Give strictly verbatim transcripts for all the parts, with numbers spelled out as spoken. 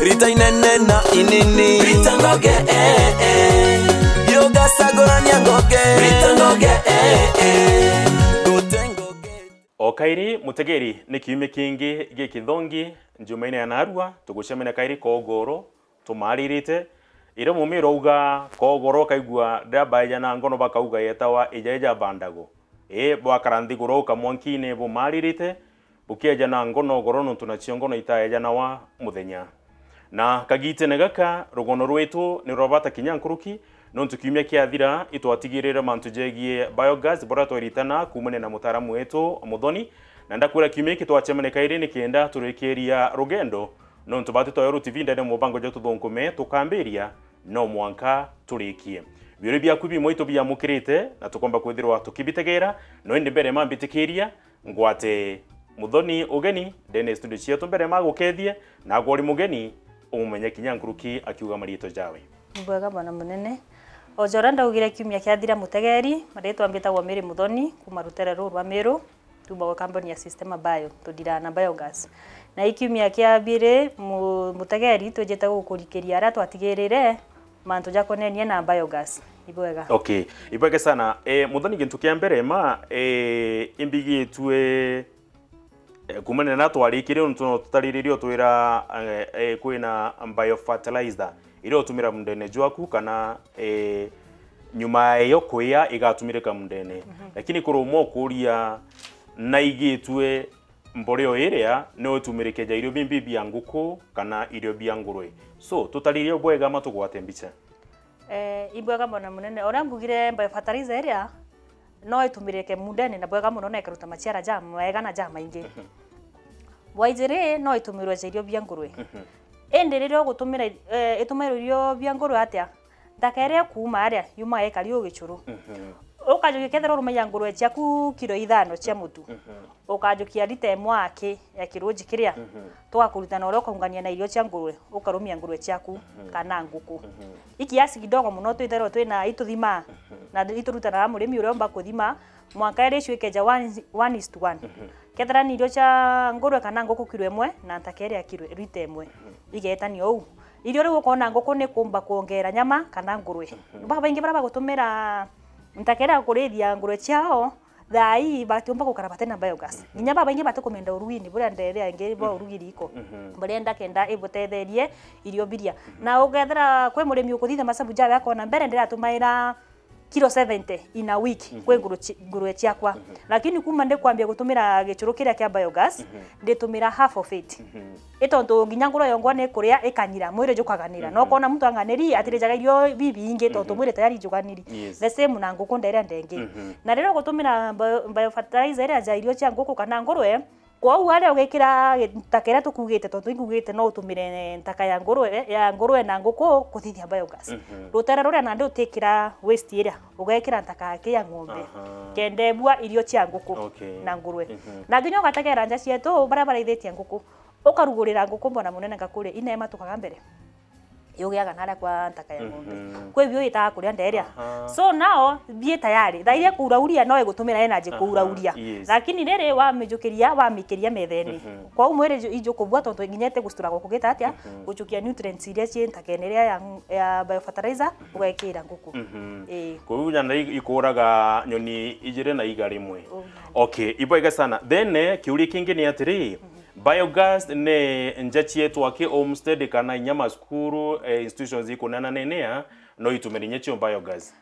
Rita inene na inini. Rita ngoge, eh, eh. Yogacagurania ngoge. Rita ngoge, eh, eh. Ngote ngoge. O kairi, mutegeri, ni kiumia kingi gikithongi, njumaine ya narua, tugucemania kairi kogoro, tumaririte. Iria mumiro auga kogoro, kaigua ndabaeja na ngono, bakauga yetawa ija ija bandago. Ii, bwakara nthiguru ukamwankine bumaririte, bukieja na ngono goro, nontu nacio ngono itaejanawa muthenya. Na kagitene gaka, rugono rwitu ni rwa bata kinya nkuruki, nontu kiumia kiathira, itwatigirire mantu jegie biogas, buria tweritana kuumania na mutaaramu wetu Muthoni, na ndakwira kiumia giki twacemania kairi nikenda turikiria rugendo, nontu bati twayo T V ndene mubango jwa tuthunkume, tukambiria no mwanka turikie. Biuri biaku bimwe itubiamukirite, na tukomba kwithirwa tukibitegera, no indi mbere mambitikiria, ngwate Muthoni ugeni ndene studio cietu mbere magukethie, na agwe uri mugeni umumenye kinya nkuruki akiuga mariitwa jawe. Ni bwega bwana munene. O ja uria ndaugire kiumia kiathira mutegeri, mariitwa mbitagwa Mary Muthoni, kuma rutere ruu rwa Miru, tuumba gwi kambuni ya Systema Bio, tudiraa na biogas. Na i kiumia kia biiri, mu-, mutegeri, twijite gukurikiria aria twatigirire, mantu jakonenie na biogas. Ibwega. Okay, ibwega sana. Eh, Muthoni, gintu kia mbere ma, eh, imbigitue, eh, kuumania na twarikire, untu no tutariririe utwira, eh, eh, kwina biofertilizer iria utumira mundene jwaku kana, eh, nyuma eyo kuya igatumirika mundene. Mhm. Lakini kuri umwe ukuria naigitue mboreo iria no itumirike ja irio bimbi bia nguku kana irio bia ngurwe. So, tutaririe bwega ma tugwate mbicha. Eh, ibwega bwana munene. Uria mbugire biofertilizer iria no itumirike mundene na bwega muno na ikaruta maciara ja mega na ja maingi. Mhm. Bwa ijiri no itumirwe ja irio bia ngurwe. Mhm. Indi riria ugutumira, eh, itumirwe irio bia ngurwe atia? Nthaka iria ikuuma aria, yumaga ikari uu gichuru. Mhm. Ukajukia kethira urumagia ngurwe ciaku kiro ithano cia mutu. Mhm. Ukajukia rita imwe aki ya kiruji kiria, mhm, tugakuruta na uria ukaungania na irio cia ngurwe, ukarumia ngurwe ciaku, mhm, kana nguku. Mhm. I kiasi kidogo muno twithairwa twina ituthimaa, mhm, na iturutanaga murimi uria umba kuthima, mwanka irio icio ikeja one, one is to one. Mhm. Kethira ni irio cia ngurwe kana nguku kiro imwe, na nthaka iria kiro, rita imwe. Mhm. Igetania uu. Irio riu ukona nguku ni kumba kwongera nyama kana ngurwe. Mhm. Babaingi baria bagutumira nthaka iria kurithia ngurwe ciao, thaa ii batiumba gukara bati na biogas. Mhm. Nginya babaingi batikumenda urugini buria nderia ingi bwa, mhm, urugi riko. Mhm. Barenda kenda ibutetherie irio biria. Mhm. Na ukethira kwi murimi ukuthithia masabu jawe akona mbere ndiratumaira kilo seventy in a week, mhm, kwi nguru ci-, ngurwe ciakwa. Mhm. Lakini kuma ndikwambia gutumira gichuru kiria kia biogas, mhm, nditumira half of it. Mhm. I tontu nginya ngurwe yongwa ni kuria ikanyira, mwiri jukaganira. Mhm. No kona muntu anganiri, atirijaga irio bibingi tontu, mhm, mwiri tayari juganiri. Yes. The same na nguku nderia ndengi. Mhm. Na riria ugutumira bio-, biofertilizer iria ja irio cia nguku kana ngurwe, kwou aria ugikira gi-, ntaka iria tukugite, tontu ingugite no utumire ntaka ya ngurwe, ya ngurwe na nguku kuthithia biogas. Mhm. Rutere ruria nandi utikira waste iria, ugekira ntaka aki ya ng'ombe. Aha. Kenda ibua irio cia nguku, okay, na ngurwe. Mhm. Na nginya ugategera nja cietu baria baraithitie nguku. Ukarugurira nguku mbona munene ngakuri, ina imatukaga mbere. Yugiaga naria kwa ntaka ya ng'ombe. Mhm. Kwi bio itaga kuria nderia. Aha. So now, bie tayari. Thaa iria kuurauria no igutumira energy, aha, kuurauria. Yes. Lakini riri wamijukiria, wamikiria methene. Mhm. Kwou mwiri ju-, ijukubua tontu nginya ite gustura gukugita atia, mhm, guchukia nutrients iria cii ntakene iria ya, ya biofertilizer, mhm, ugekira nguku. Mhm. Ii. Kwou nyana i-, ikuraga nyoni ijiri na iga rimwe. Uu. Okay, ibwega sana. Then, eh, kiuria kingi ni atiri, mhm. Biogas ni nja cietu aki homestead kana inya masukuru, eh, institutions ikunenanenea, no itumire inya cio biogas?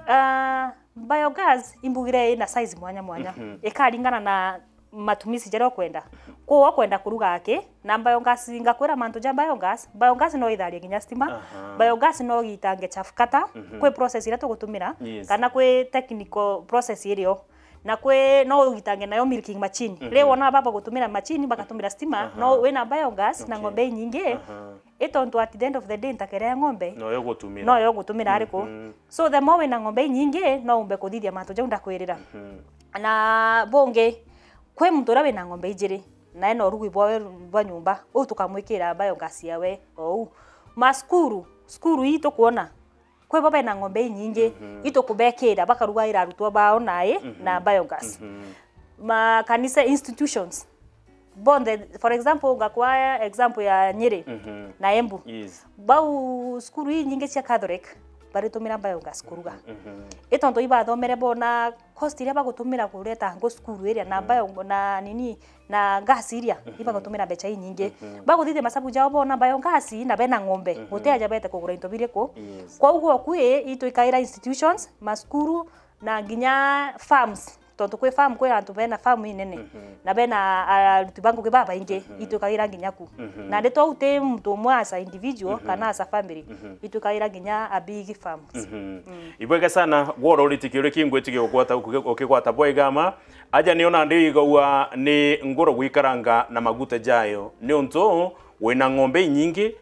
Ah, biogas imbugire ina size mwanya mwanya. Mhm. Ikaringana na matumizi jaria ukwenda. Kuu ukwenda kuruga aki, na biogas, ngakwira mantu ja biogas, biogas no itharie nginya stima, aha, biogas no gitange chafu kata, mhm, kwi process iria tugutumira, yes, kana kwi technical process irio. Na kwi, no ugitange nayo milking machine. Mhm. Riu wona baba gutumira machine, bagatumira stima, aha, no wina biogas na, okay, ng'ombe inyingi, aha, i tontu at the end of the day, ntakere ya ng'ombe, noyo gutumira. Noyo gutumira ariku. Mhm. So, the more wina ng'ombe inyingi, no umbe kuthithia mantu jau ndakwirira. Mhm. Na bungi, kwi muntu uria wina ng'ombe ijiri, na ena urugi bwawe bwa nyumba, uu tukamwikira biogas yawe ou. Ma cukuru, cukuru ii tukwona, kwi bo bena ng'ombe inyingi, mhm, itukubekira, bakarugaira arutwo bao nai, mhm, na biogas. Mhm. Makanisa, institutions, bonthe, for example, ngakwaa example ya Nyeri Mhm. na Embu. Yes. Bau cukuru inyingi cia Catholic baritumira biogas kuruga. Mhm. I tontu ibathomere bona cost iria bagutumira kureta ngo cukuru iria na Mhm. bio na nini na gas iria Mhm. ibagutumira mbeca inyingi. Mhm. Baguthithia masabu jao bona biogas na bena ng'ombe. Mhm. Guti aja bete kugura into biriku. Yes. Kwa uguo kwi itwikaira institutions, macukuru na nginya farms. Tontu kwi farm, kwi antu bena farm inene Mhm. na bena aruti ba ngugi babaingi, Mhm. itwikaira nginya ku. Mhm. Na ndi twau ti muntu umwe as a individual Mhm. kana as a family, Mhm. itwikaira nginya a big farms. Mhm. Mm. Ibwega sana, gworo uritikirio ri kingwitikia ukigwata, uki-, ukigwata bwega ma. Aja nio nandi igaua ni ngoro gwikaranga na maguta jayo. Niuntu wina ng'ombe inyingi,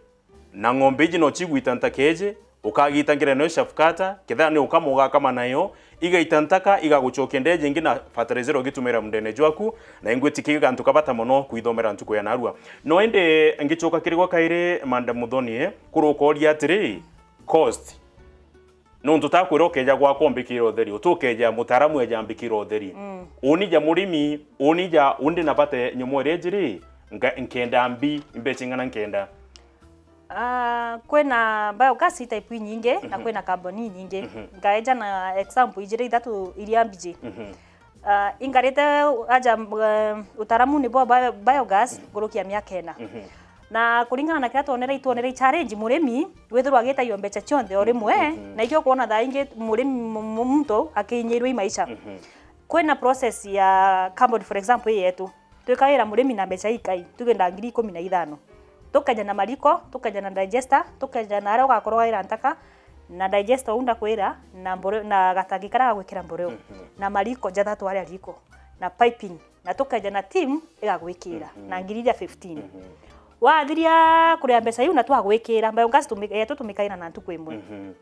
na ng'ombe iji no cigwita ntaka iji, ukagita ngira nayo shafkata, kethira ni ukama ugakama nayo, igaita ntaka, igagucokia ndeje ingi na fertilizer ugitumira mundene jwaku, na ingwitikia gantu ka bata mono kwithomera ntuku ya narua. No indi ngicoka kiri gwa kairi, Madam Muthoni, eh, kuri ukoria atiri, cost. Nontu takwira ukeja gwakwa umbikire utheri, uti ukeja mutaaramu eja ambikire utheri. Mm. Uni ja murimi, uni ja, undi na bate nyomo iria ijiri, nka-, nkenda mbi, mbeca ing'ana nkenda? Ah, kwina biogas type inyingi na Mhm. kwina carbon inyingi. Mhm. Ngaeja na example ijiri ithatu iria mbiji. Mhm. Ah, ingarite aja, eh, utaramuni bwa bio-, biogas Mhm. nkuruki ya miaka ina. Mhm. Na kuringana na kiria twonere, itwonere i challenge murimi withirwa agitaio mbeca cionthe o rimwe, Mhm. na ikio kwona thaa ingi murimi mu-, mu-, muntu akinyirwe i maisha. Mhm. Kwina process ya carbon, for example, ii yetu. Twikaira murimi na mbeca ikai, tuge nda ngiri ikumi na ithano. Tukeja na mariko, tukeja na digester, tukeja na aria ugakorwo waira ntaka, na digester uu ndakwira, na mbore-, na gatangi karia ga gwikira mboreo, Mhm. na mariko jathatu aria riko, na piping, na tukeja na team igagwikira, Mhm. na ngiri iria fifteen. Mhm. Wathiria kuria mbeca iu na twagwikira, biogas tumi-, yetu tumikaira na ntuku imwe. Mhm.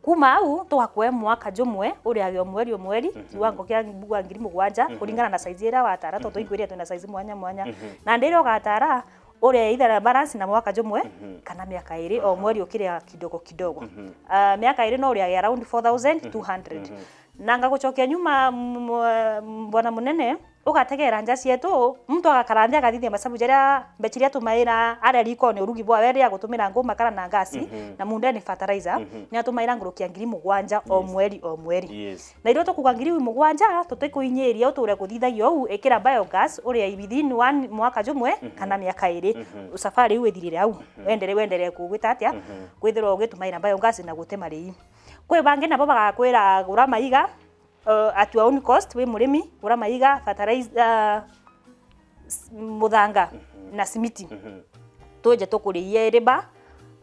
Kuma au, tugakue mwaka jumwe, uriage o mweri o mweri, Mhm. kiwango kia mbugua ngiri mugwanja, Mhm. kuringana na size iria watara, tontu Mhm. ingwiria twina size mwanya mwanya. Mhm. Na ndiria ugatara, uria either balance na mwaka jumwe, Mhm. kana miaka iri, o Aha. mweri ukiria kidogo kidogo. Mhm. Ah, miaka iri no uriage around four thousand two hundred. Mhm. Na ngagucokia nyuma, m-, m-, bwana munene, ugategera nja cietu, muntu agakara nthi agathithia masabu jaria mbeca iria atumaira aria rikone urugi bwa weri ya gutumira nguu, makara na ngasi, Mhm. na mundene fertilizer, Mhm. ni atumaira nguruki ya ngiri mugwanja o Yes. mweri o mweri. Yes. Na irio tukuga ngiri mugwanja, tutikuinyiria uture kuthithagia uu, ikira biogas, uria within one mwaka jumwe, Mhm. kana miaka iri. Mhm. Safari iu ithirire au. Mhm. Wendere-, wenderee kugwita atia? Mhm. Kwithirwa ugitumaira biogas na gutema rii. Kwi bangi nabo bagakwira gura maiga, uh, at your own cost, wi murimi, gura maiga, fertilizer, uh, s-, muthanga Mhm. na simiti. Mhm. Tuje tukuriie riba,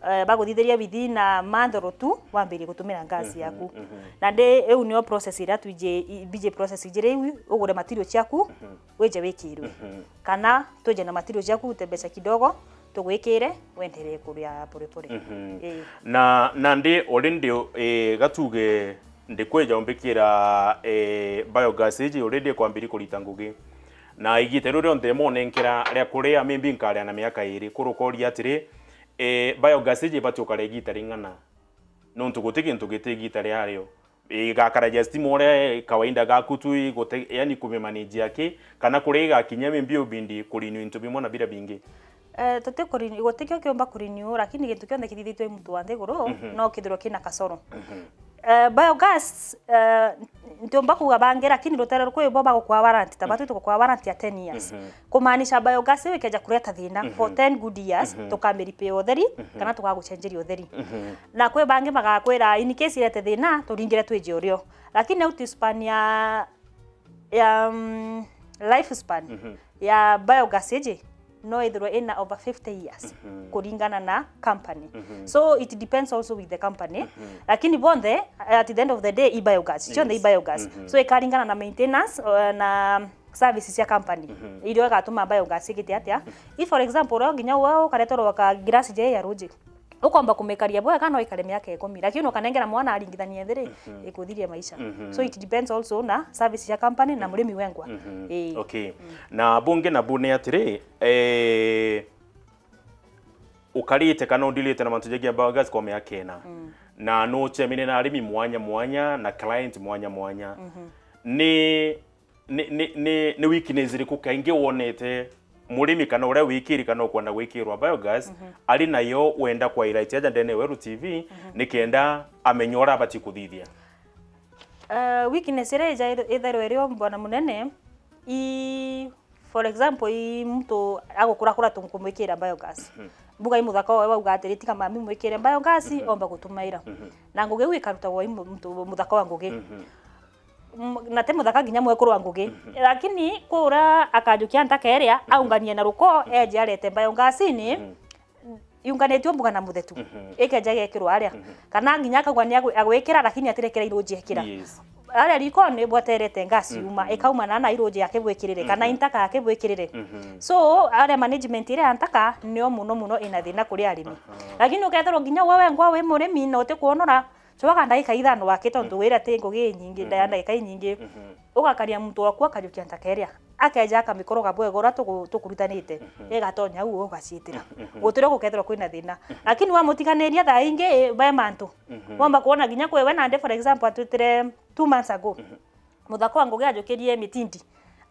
uh, baguthithiria within a month or two, wambirie gutumira gas Mhm, yaku. mhm. Na ndi, iu nio process iria twiji, i-, biji process ijiri iu, ugure material ciaku, Mhm. wije wikirwe. Mhm. Kana tuje na material ciaku, ute mbeca kidogo, tugwikire, wenderee kuria pore pore. Mhm. Ii. Na, na ndi already, eh, gatuge ndikwija umbikira, eh, biogas iji already kwambiri kurita ngugi. Na igita riu rionthe monenkera ria kuria, maybe nkaria na miaka iri, kurukoria atiri, eh, biogas iji ibati ukaria igita ring'ana? Nontu guti gintu giti igita riario. Igakara ja stima uria kawaida gaku tu, igute-, yani kumimanage aki, kana kuria igakinya maybe ubindi kurenew into bimwe na biria bingi? Eh, tuti kurenew, gutikio kiumba kurenew, lakini gintu kionthe kithithitwe i muntu wa nthiguru, Mhm. no kithirwe kina kasoro. Mhm. Eh, biogas, eh, ntiumba kuuga bangi, lakini rutere rukui bo bagukwa warranty, ta Mhm. batu tugukwa warranty ya ten years. Mhm. Kumaanisha biogas iu ikeja kureta thina Mhm. for ten good years, Mhm. tukamiripia utheri, Mhm. kana tugagucenjeria utheri. Mhm. Na kwi bangi bagakwira, in case irete thina, turingire twije urio. Lakini au span ya, ya, mm, life span Mhm. ya biogas iji, no ithirwe ina over fifty years, Mhm. kuringana na company. Mhm. So it depends also with the company. Mhm. Lakini bonthe, at the end of the day, i biogas. Cionthe i Yes. biogas. Mhm. So ikaringana na maintenance, uh, na services cia company, Mhm. iria igatuma biogas igite atia. Mhm. If, for example, uria nginya we ukareterwa ka glass je ya ruji, ukomba kumikaria bwega, no ikare miaka ikumi, lakini ukanengera mwana aringithania thiri, Mhm. ikuthiria maisha. Mhm. So it depends also na services cia company na Mhm. murimi wengwa. Mhm. Ii. Okay. Mm. Na bungi na bune atiri, eh, ukarite kana udilite na mantu jagia biogas kwa miaka ina. Mm. Na nucemine na arimi mwanya mwanya na client mwanya mwanya. Mhm. Ni ni, ni, ni, ni weakness iriku kaingi wonete Murimi kana uria wikiri kana ukwenda gwikirwa biogas, ari nayo wenda kwa highlight aja ndene ya Weru T V, nikenda amenye uria abati kuthithia. Uh, weakness iria ija-, ithairwa irio bwana munene, i, for example, i muntu agukurakura tunkumwikira biogas. Mbuga i muthaka wawe wauga atiri, "Tiga mami mwikire biogas, omba gutumaira." Na ngugi iu ikarutagwa i mu-, muntu muthaka wa ngugi. M-, na ti muthaka nginya mwekuru wa ngugi. Lakini kwi uria akajukia ntaka iria, aunganie na ruko, eje arete biogas-ini, yunganitue mbuga na muthetu. Ikeja gekirwa aria. Kana nginya akauga ni agwi-, agwikira, lakini atirekera iruji ekira. Yes. Aria rikoni bwaterete gas yuma, ikauma na na iruji akibwikirire, kana intaka akibwikirire. So, aria management iria ya ntaka, nio muno muno ina thina kuri arimi. Lakini ukethirwa nginya we wengwa wi murimi na utikuonora, cwaga ndagika ithano waki, tontu wira ti ngugi inyingi, nda-, ndagika inyingi. Ugakaria muntu waku akajukia ntaka iria. Akeja akamikoroga bwega uria tuku-, tukurutanite. Igatonya u ugacitira. Gutire gukethirwa kwina thina. Lakini wamutiganiria thaa ingi, be mantu. Wamba kuona nginya kwi we nandi, for example, atwitire two months ago. Muthaka wa ngugi ajukirie mitindi.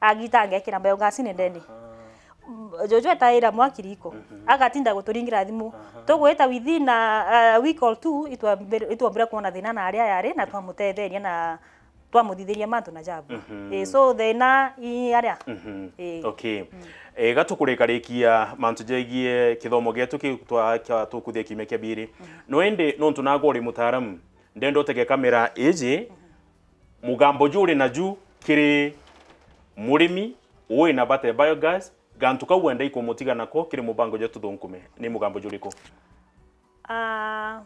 Agita angekira biogas-ini ndene. M-, Jojo etaira mwaki riko. Agatinda guturingira thimu. Tugwita within a, a week or two, itwambire, itwambire kuona thina na aria yari, na twamutetheria na twamuthithiria mantu na jabu. Eh, so thina i aria. Eh. Okay. Eh, gatukurikarikia mantu jegie kithomo gietu kiu twa-, kia tukuthia kiumia kia biri. No indi nontu nagwe uri mutaaramu, ndenda utege kamera iji, mugambo juu uri naju kiri murimi ui na bata ya biogas, gantu kau wenda ikumutiga nako kiri mubango jwa tuthunkume, ni mugambo juriku? Ah,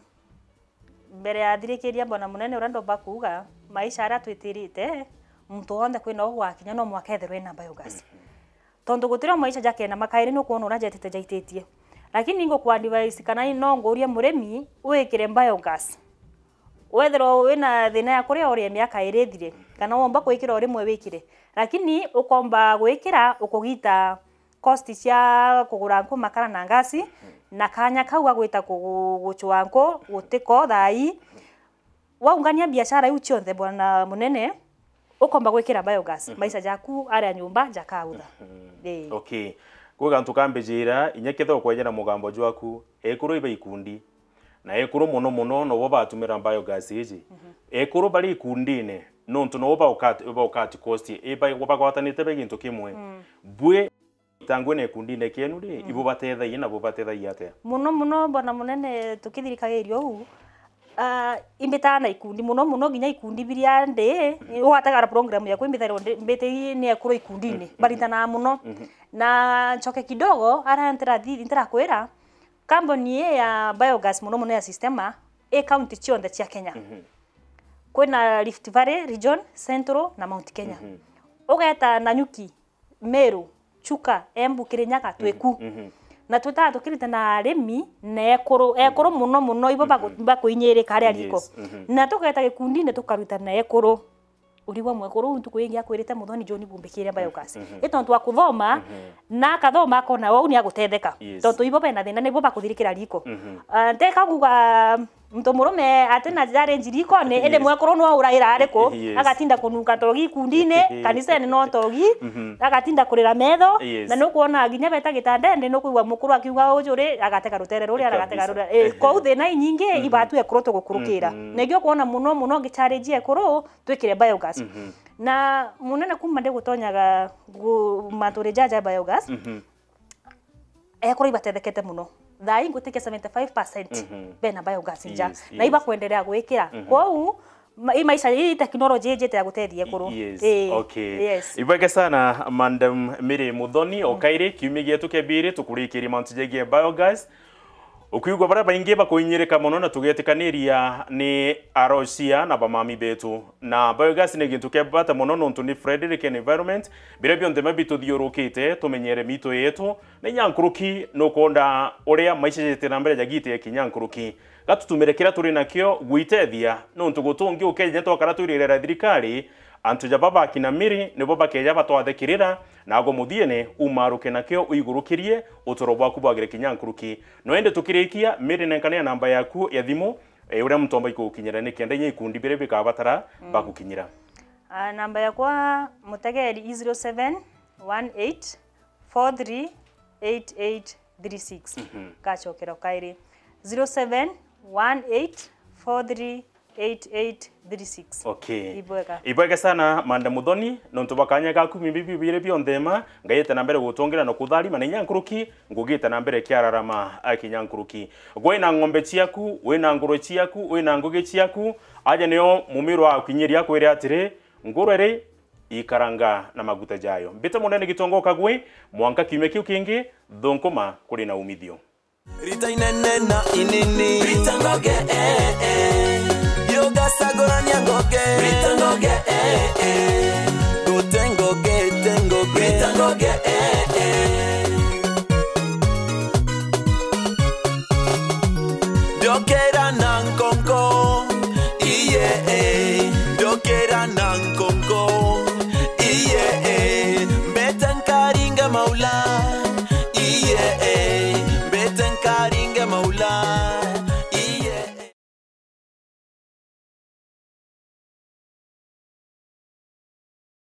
mbere ya thirikiria bwana munene uria ndomba kuuga, maisha aria twitirite, muntu wonthe kwina ugwakinya no mwaka ethirwe ena biogas. Tontu gutiri o maisha ja kena makairi, nukwona uria jetite jaititie. Lakini ngukwa advice kana no ngurie murimi wikire biogas. Wethirwa wina thina ya kuria urie miaka iri ithire, kana womba kwikira o rimwe wikire. Lakini ukomba gwikira ukugita cost cia kugura nku, makara na ngasi, na kanya kau ga gwita kugu-, gucua nku gutiko thaa ii. Waungania biashara iu cionthe, bwana munene, ukomba gwikira biogas, maisha jaku aria nyumba jakautha. Ii. Okay. Kwi gantu kambijira, inya kethirwa kweja na mugambo jwaku, ekuru iba ikundi. Na ekuru muno muno nobo batumira biogas iji. Ekuru bari ikundine, nontu nobo baukat-, baukat cost, iba-, bagwatanite be gintu kimwe. Bwi itangwe na ikundine kienu ri, ibo batethagia na bo batethagia atia? Muno muno, bwana munene, tukithirikagiria uu, ah, imbitaga na ikundi, muno muno nginya ikundi biria ndi, ugatagara program yakwa imbithairwa ndi, mbiti ni ekuru ikundine, baritanaga muno. Na ncoke kidogo, ara ntirathi-, ntirakwira, kambuni ii ya biogas muno muno ya Sistema, i county cionthe cia Kenya. Kwina Rift Valley region, Central na Mount Kenya. Ugeta Nanyuki, Meru, Chuka, Embu, Kirinyaga, twiku. Na twitaga tukirite na arimi na ekuru, ekuru muno muno, ibo baku-, bakuinyirika aria riko. Na tugeta gikundine tukaruta na ekuru. Urigwa mwekuru uu ntuku ingi akwirite, "Muthoni John, bumbikire biogas." I tontu wa kuthoma, na akathoma akona wau ni agutetheka. Tontu ibo bena thina, nibo bakuthirikira riko. Ah, nteka kuga muntu murume ati na challenge rikone, indi mwekuru no uraira ariku, agatinda kununga togi ikundine, kanisene no togi, agatinda kurira metho, na nukwona nginya beta gitandene, nukwigua mukuru akiuga uju ri, agatega rutere ruria, agatega ruria. Eh, kou thina inyingi, ibatu ekuru tugukurukira. Nigio kwona muno muno ngichallenge ekuru, twikire biogas. Na munene kuma ndigutonyaga gu-, manturi jaja biogas, ekuru ibatethekete muno. Thaa ii ngutikia seventy five percent bena biogas nja. Na ibakwenderea gwikira. Kwou, ma-, i maisha, i technology ijite ya gutethia ekuru. Yes. Ii. Okay. Yes. Ibwege sana, Madam Mary Muthoni, o kairi, kiumia gietu kia biri, tukurikirie mantu jegie biogas. Ukiigua baria baingi bakuinyirika mono na tugetikaniria ni arocia na bamami betu. Na biogas ni gintu kia bata mono nontu ni friendly ki environment. Biria bionthe biria bituthiurukite, tumenyere mitu yetu. Na inya nkuruki nukwonda uria maisha jete na mbere jagite kinya nkuruki. Gatutumire kiria turi nakio gwitethia, nontu gutungi ukeja twakara twirire thirikari, antu ja baba akina Mary nibo bakeja batwathikirira, nago muthiene umaruke nakio uigurukirie uturo bwaku bwagire kinya nkuruki. No indi tukirikia, Mary, nenkania namba yaku ya thimu, eh, uria muntu omba ikugukinyira nikenda inya ikundi biria bikabatara bakukinyira. Ah, namba yakwa mutegeri i zero seven one eight four three eight eight three six. Mhm. Ngacokera o kairi, zero seven one eight four three eight eight three six. Okay. Ibwega. Ibwega sana, Mande Muthoni, nontu bwa kanya gaku, mimi biu biri bionthe ma, ngaite na mbere gutongera na kutharima na inya nkuruki, ngugite na mbere kiararama, a, kinya nkuruki. Gwe wina ng'ombe ciaku, wina ngurwe ciaku, wina ngugi ciaku, aja nio mumiro wa kinyiria akwire atiri, ngurwe ri, ikaranga na maguta jayo. Mbite munene Gitonga Kagwe, mwanka kiumia kiu kingi, thunkuma kuri na umithio. Rita inene na inini. Rita ngoge, eh, eh. Yogacagũrania ngoge. Rita ngoge, eh, eh. Gũte ngoge, te ngoge. Rita ngoge, eh, eh. Ndokera na